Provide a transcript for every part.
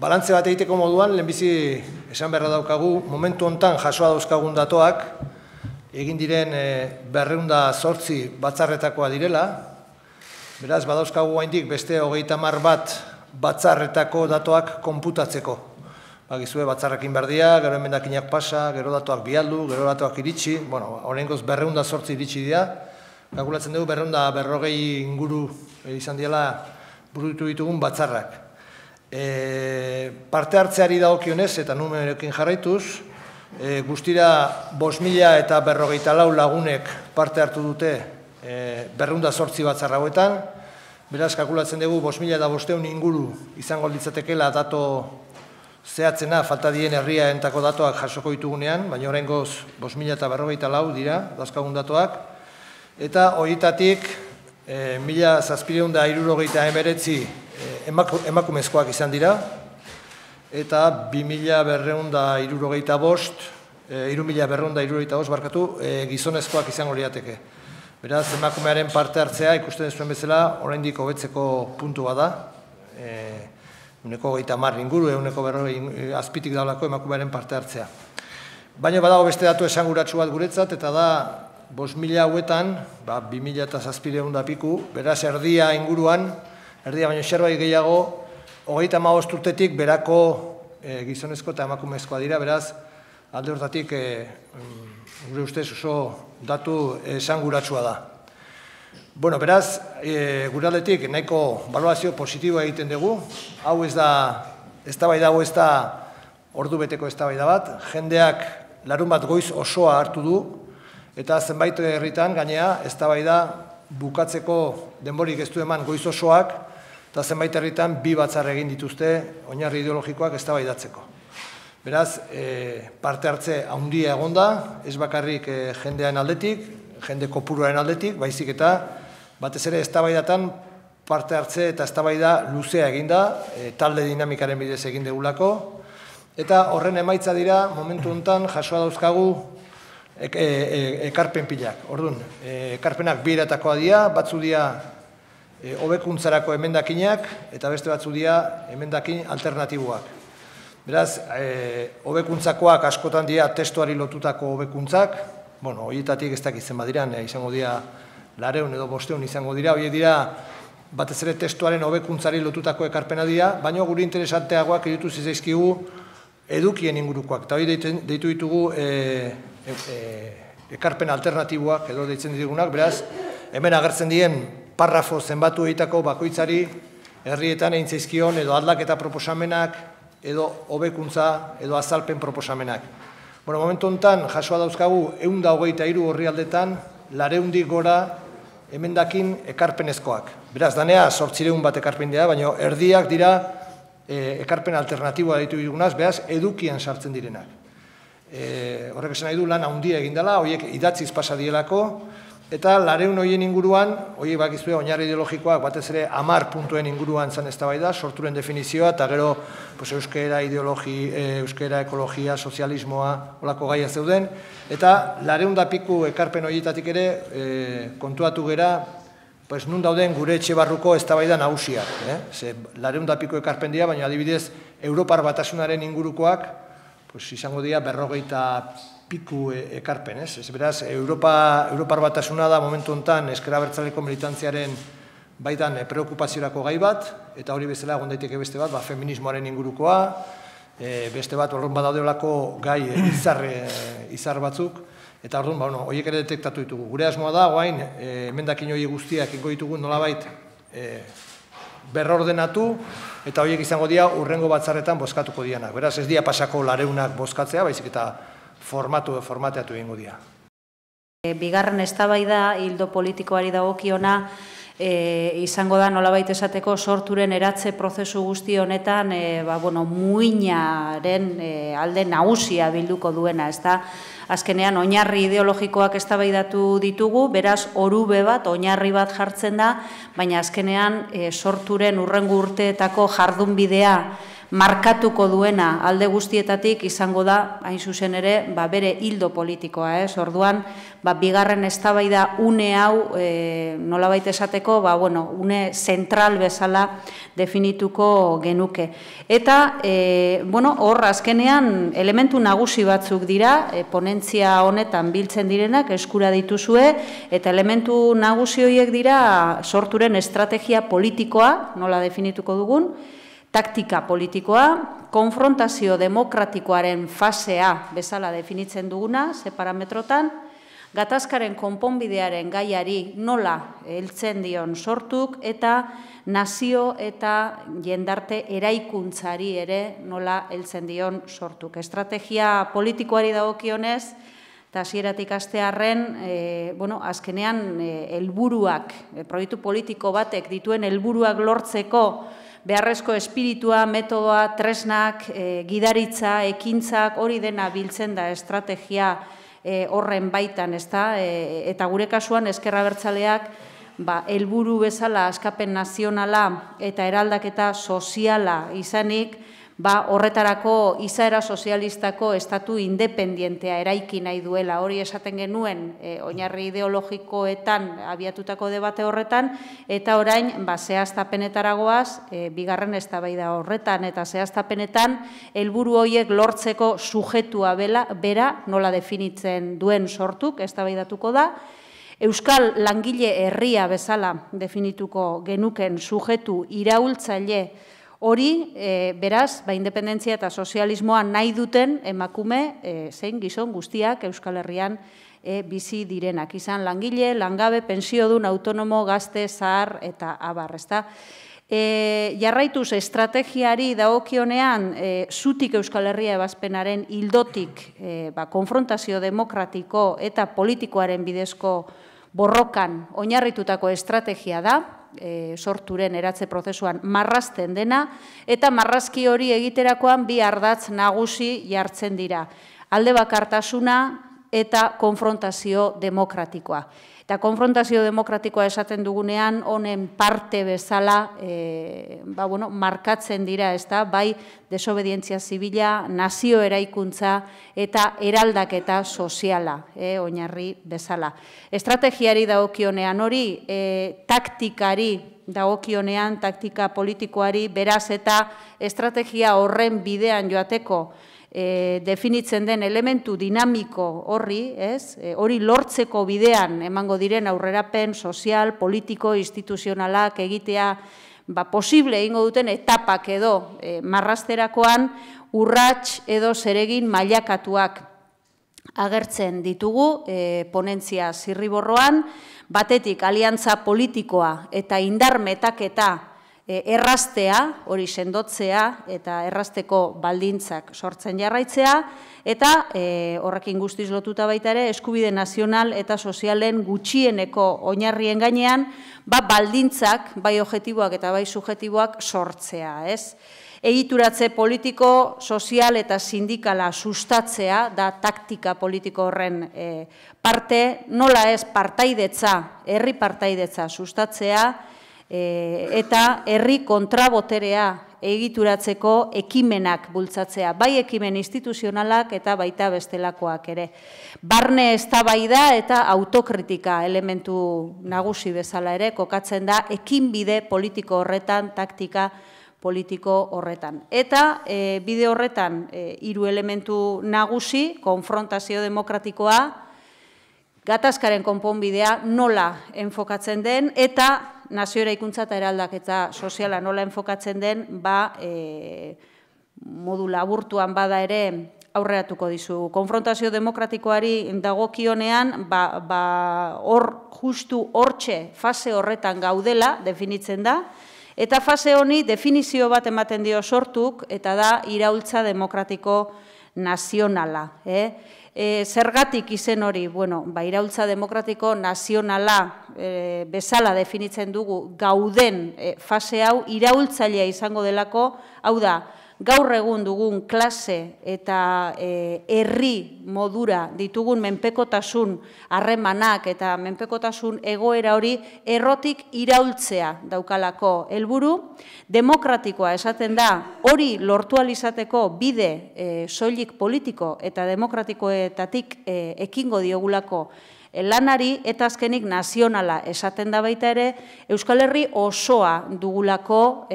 balantze bat egiteko moduan, lehenbizi esan beharra daukagu, momentu hontan jasoa dauzkagun datoak, egin diren 208 batzarretakoa direla, beraz, badauzkagu gaindik beste 30 bat batzarretako datoak konputatzeko. Bagizue, batzarrekin berdia, gero emendakinak pasa, gero datoak bialdu, gero datoak iritsi, bueno, horrengoz 208 iritsi dira, kalkulatzen dugu 240 inguru izan diela burutu ditugun batzarrak. Parte hartzeari dagokionez eta numeroekin jarraituz, guztira 5.054 lagunek parte hartu dute 208 batzar hauetan, beraz, kalkulatzen dugu 5.500 inguru izango litzatekeela dato zehatzena falta dien herriaentako datoak jasoko ditugunean, baina oraingoz 5.054 dira, dauzkagun datoak, eta horietatik 1.769 emakumezkoak izan dira, eta 3.265 gizonezkoak izango lirateke. Beraz, emakumearen parte hartzea ikusten zuen bezala, oraindik hobetzeko puntu bada, 130 inguru, 140 azpitik daulako emakumearen parte hartzea. Baina badago beste datu esanguratsu bat guretzat, eta da 5.000 hauetan, 2.700 piku, beraz erdia inguruan, erdia baino zerbait gehiago, 35 urtetik berako gizonezko eta emakumezkoa dira, beraz, alde hortatik gure ustez oso datu esanguratsua da. Bueno, beraz, gure aldetik nahiko balorazio positiboa egiten dugu, hau ez da, eztabaida hau ez da ordu beteko eztabaida bat, jendeak larun bat goiz osoa hartu du, eta zenbait herritan gainea eztabaida bukatzeko denborik ez du eman goiz osoak, eta zenbait herritan 2 batzar egin dituzte oinarri ideologikoak eztabaidatzeko. Beraz, parte hartze handia egonda, ez bakarrik jendean aldetik, jende kopuruaren aldetik, baizik eta batez ere eztabaidatan parte hartze eta eztabaida luzea eginda, talde dinamikaren bidez egin degulako, eta horren emaitza dira momentu honetan jasoa dauzkagu ekarpen pilak. Orduan, ekarpenak 2 eratakoa dira, batzu dira hobekuntzarako emendakinak, eta beste batzu dira emendakin alternatiboak. Beraz, hobekuntzakoak askotan dira testuari lotutako hobekuntzak, bueno, horietatik ez dakitzen badiran, izango dira 400 edo 500 izango dira, horiek dira batez ere testuaren hobekuntzari lotutako ekarpena dira, baina gure interesanteagoak irutu zitzaizkigu edukien ingurukoak, eta hori deitu ditugu ekarpen alternatiboak edo deitzen ditugunak, beraz, hemen agertzen dien parrafo zenbatu egitako bakoitzari herrietan egin zaizkion edo aldaketa proposamenak edo hobekuntza edo azalpen proposamenak. Bueno, momentu honetan jasoa dauzkagu 123 orrialdetan 400 gora emendakin ekarpenezkoak. Beraz, danea 800 bat ekarpen dira, baina erdiak dira ekarpen alternatiboa ditu dugunaz, beraz, edukien sartzen direnak. Horrek esan nahi du lan handia egin dela, horiek idatziz pasa dielako, eta 400 horien inguruan, horiek bakizue oinarri ideologikoak batez ere 10 puntuen inguruan zan eztabaida, sorturen definizioa, eta gero euskera, euskera, ekologia, sozialismoa, holako gaia zeuden, eta 400 piku ekarpen horietatik ere kontuatu gera, nun dauden gure etxe barruko eztabaida nagusiak. 400 piku ekarpen dira, baina adibidez, Europar Batasunaren ingurukoak, izango dira 40 piku ekarpen, ez? Beraz, Europar Batasuna da momentu honetan ezker abertzaleko militantziaren baitan preokupaziorako gai bat, eta hori bezala egon daiteke beste bat, feminismoaren ingurukoa, beste bat horren badaudelako gai izar batzuk, eta orduan, horiek ere detektatu ditugu. Gure asmoa da, guain, emendakin hori guztiak ingo ditugu nolabait berrordenatu, eta horiek izango dira urrengo batzarretan bozkatuko dianak. Beraz, ez dira pasako 400 bozkatzea, baizik eta formateatu egingo dira. Bigarren eztabaida hildo politikoari dagokiona izango da nolabait esateko sorturen eratze prozesu guzti honetan muinaren alde nagusia bilduko duena, ezta? Azkenean oinarri ideologikoak eztabaidatu ditugu, beraz orube bat, oinarri bat jartzen da, baina azkenean sorturen urrengo urteetako jardunbidea markatuko duena alde guztietatik izango da, hain zuzen ere, bere hildo politikoa. Orduan, bigarren eztabaida une hau, nolabait esateko, une zentral bezala definituko genuke. Eta, hor, azkenean, elementu nagusi batzuk dira, ponentzia honetan biltzen direnak, eskura dituzue, eta elementu nagusi horiek dira sorturen estrategia politikoa, nola definituko dugun, taktika politikoa, konfrontazio demokratikoaren fasea bezala definitzen duguna, ze parametrotan, gatazkaren konponbidearen gaiari nola heltzen dion sortuk, eta nazio eta jendarte eraikuntzari ere nola heltzen dion sortuk. Estrategia politikoari dagokionez, eta hasieratik hastearren, azkenean helburuak, proiektu politiko batek dituen helburuak lortzeko beharrezko espiritua, metodoa, tresnak, gidaritza, ekintzak, hori dena biltzen da estrategia horren baitan, eta gure kasuan Ezker Abertzaleak helburu bezala askapen nazionala eta eraldaketa soziala izanik, horretarako izaera sozialistako estatu independientea eraiki nahi duela. Hori esaten genuen oinarri ideologikoetan abiatutako debate horretan, eta orain zehaztapenetaragoaz bigarren eztabaida horretan, eta zehaztapenetan helburu horiek lortzeko sujetua bera nola definitzen duen sortuk eztabaidatuko da. Euskal langile herria bezala definituko genuken sujetu iraultzaile hori, beraz, independentzia eta sozialismoa nahi duten emakume zein gizon guztiak Euskal Herrian bizi direnak. Izan langile, langabe, pensiodun, autonomo, gazte, zahar eta abar. Jarraituz estrategiari dagokionean zutik Euskal Herria ebazpenaren hildotik konfrontazio demokratiko eta politikoaren bidezko borrokan oinarritutako estrategia da, sorturen eratze prozesuan marrazten dena, eta marrazki hori egiterakoan bi ardatz nagusi jartzen dira. Alde bakartasuna eta konfrontazio demokratikoa. Eta konfrontazio demokratikoa esaten dugunean, honen parte bezala markatzen dira, bai desobedientzia zibila, nazio eraikuntza eta eraldaketa soziala, oinarri bezala. Estrategiari dagokionean hori, taktikari dagokionean, taktika politikoari, beraz eta estrategia horren bidean joateko definitzen den elementu dinamiko horri, hori lortzeko bidean emango diren aurrerapen sozial, politiko, instituzionalak egitea posible egingo duten etapak edo marrazterakoan urrats edo zeregin mailakatuak agertzen ditugu ponentzia zirriborroan, batetik aliantza politikoa eta indar metaketa erraztea, hori sendotzea eta errazteko baldintzak sortzen jarraitzea, eta horrekin guztiz lotuta baita ere, eskubide nazional eta sozialen gutxieneko oinarrien gainean, baldintzak, bai objektiboak eta bai subjektiboak sortzea, Egituratze politiko, sozial eta sindikala sustatzea, da taktika politiko horren parte, nola ez partaidetza, herri partaidetza sustatzea, eta herri kontraboterea egituratzeko ekimenak bultzatzea, bai ekimen instituzionalak eta baita bestelakoak ere. Barne eztabaida eta autokritika elementu nagusi bezala ere kokatzen da ekinbide politiko horretan, taktika politiko horretan. Eta bide horretan hiru elementu nagusi, konfrontazio demokratikoa, gatazkaren konponbidea nola enfokatzen den, eta nazio eraikuntza eta eraldaketa soziala nola enfokatzen den, modu laburtuan bada ere aurreratuko dizu. Konfrontazio demokratikoari dagokionean, justu hortxe fase horretan gaudela definitzen da, eta fase honi definizio bat ematen dio sortuk, eta da iraultza demokratiko nazionala. Zergatik izen hori, iraultza demokratiko nazionala bezala definitzen dugu gauden fase hau iraultzailea izango delako, hau da, gaur egun dugun klase eta herri modura ditugun menpekotasun harremanak eta menpekotasun egoera hori errotik iraultzea daukalako helburu, demokratikoa esaten da, hori lortu ahal izateko bide soilik politiko eta demokratikoetatik ekingo diogulako lanari, eta azkenik nazionala esaten da baita ere, Euskal Herri osoa dugulako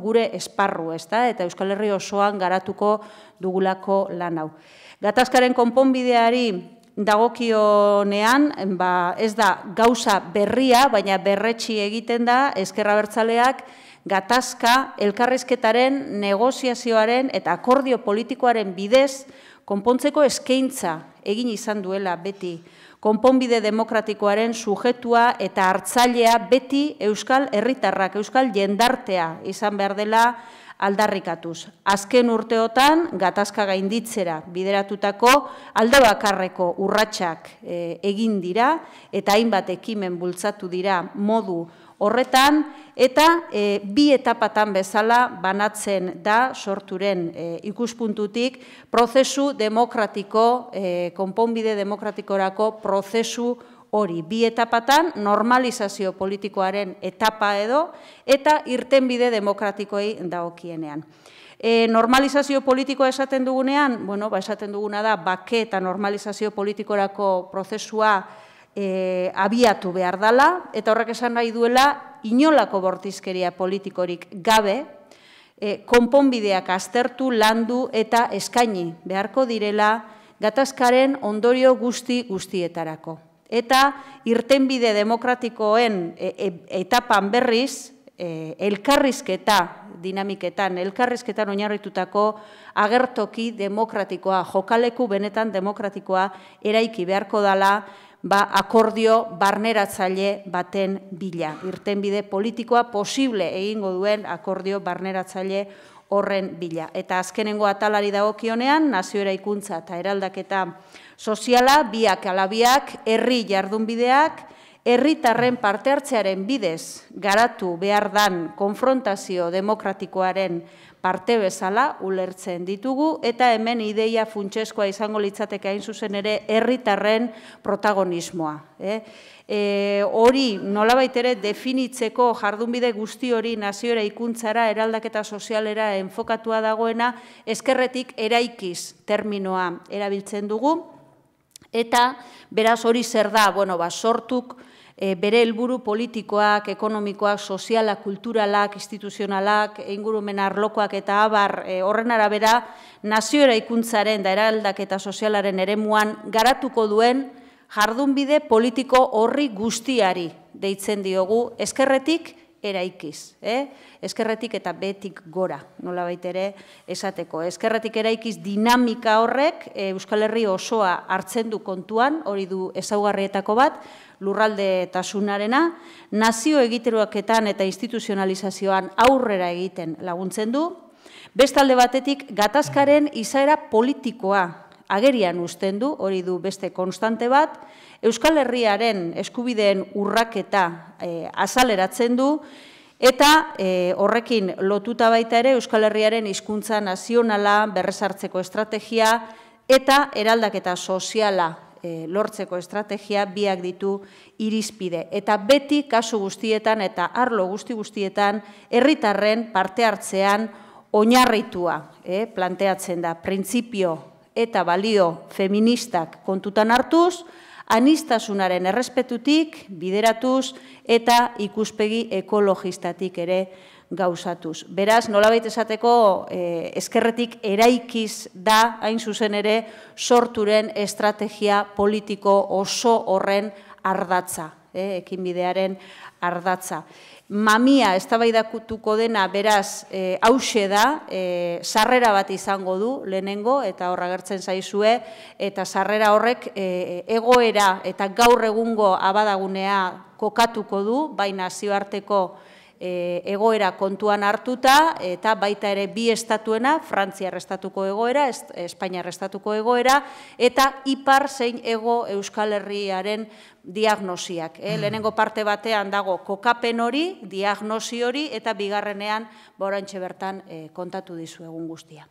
gure esparru, eta Euskal Herri osoan garatuko dugulako lan hau. Gatazkaren konponbideari dagokionean, ez da gauza berria, baina berretsi egiten da Ezker Abertzaleak gatazka elkarrizketaren, negoziazioaren eta akordio politikoaren bidez konpontzeko eskaintza egin izan duela beti. Konponbide demokratikoaren sujetua eta hartzailea beti Euskal Herritarrak, Euskal jendartea izan behar dela aldarrikatuz. Azken urteotan, gatazka gainditzera bideratutako alde bakarreko urratsak egin dira eta hainbat ekimen bultzatu dira modu horretan, eta bi etapatan bezala banatzen da sorturen ikuspuntutik prozesu demokratiko, konponbide demokratikorako prozesu hori. Bi etapatan normalizazio politikoaren etapa edo, eta irtenbide demokratikoei dagokienean. Normalizazio politikoa esaten dugunean, esaten duguna da, bake eta normalizazio politikorako prozesua abiatu behar dela, eta horrek esan nahi duela, inolako bortizkeria politikorik gabe, konponbideak aztertu, landu eta eskaini beharko direla gatazkaren ondorio guztietarako. Eta irtenbide demokratikoen etapan berriz, elkarrizketa dinamiketan, elkarrizketan oinarritutako agertoki demokratikoa, jokaleku benetan demokratikoa eraiki beharko dela, akordio barneratzaile baten bila. Irtenbide politikoa posible egingo duen akordio barneratzaile horren bila. Eta azkenengo atalari dagokionean, nazio eraikuntza eta eraldaketa soziala, biak ala biak, herri jardunbideak, herritarren parte hartzearen bidez garatu behar dan konfrontazio demokratikoaren parte bezala ulertzen ditugu, eta hemen ideia funtsezkoa izango litzateke hain zuzen ere herritarren protagonismoa. Hori nolabait ere definitzeko jardunbide guzti hori nazio eraikuntzara, eraldaketa sozialera enfokatua dagoena, ezkerretik eraikiz terminoa erabiltzen dugu, eta beraz hori zer da, sortuk bere helburu politikoak, ekonomikoak, sozialak, kulturalak, instituzionalak, ingurumen arlokoak eta abar horren arabera nazio eraikuntzaren da eraldaketa sozialaren eremuan garatuko duen jardunbide politiko horri guztiari deitzen diogu ezkerretik eraikiz. Ezkerretik eta betik gora, nolabait ere esateko. Ezkerretik eraikiz dinamika horrek Euskal Herri osoa hartzen du kontuan, hori du ezaugarrietako bat, lurralde tasunarena, nazio egiteroaketan eta instituzionalizazioan aurrera egiten laguntzen du, bestalde batetik gatazkaren izaera politikoa agerian uzten du, hori du beste konstante bat, Euskal Herriaren eskubideen urraketa azaleratzen du, eta horrekin lotuta baita ere Euskal Herriaren hizkuntza nazionala berrezartzeko estrategia eta eraldaketa soziala lortzeko estrategia biak ditu irizpide. Eta beti kasu guztietan eta arlo guztietan herritarren parte hartzean oinarritua planteatzen da. Printzipio eta balio feministak kontutan hartuz, aniztasunaren errespetutik, bideratuz eta ikuspegi ekologistatik ere gauzatuz. Beraz, nolabait esateko ezkerretik eraikiz da, hain zuzen ere, sorturen estrategia politiko oso horren ardatza, ekinbidearen ardatza. Mamia eztabaidakutuko dena beraz hauxe da, sarrera bat izango du lehenengo, eta horra gertzen zaizue, eta sarrera horrek egoera eta gaur egungo abadagunea kokatuko du, bai nazioarteko egoera kontuan hartuta, eta baita ere bi estatuena, Frantziar estatuko egoera, Espainiar estatuko egoera, eta ipar zein ego Euskal Herriaren diagnosiak. Lehenengo parte batean dago kokapen hori, diagnosi hori, eta bigarrenean oraintxe bertan kontatu dizuegun guztia.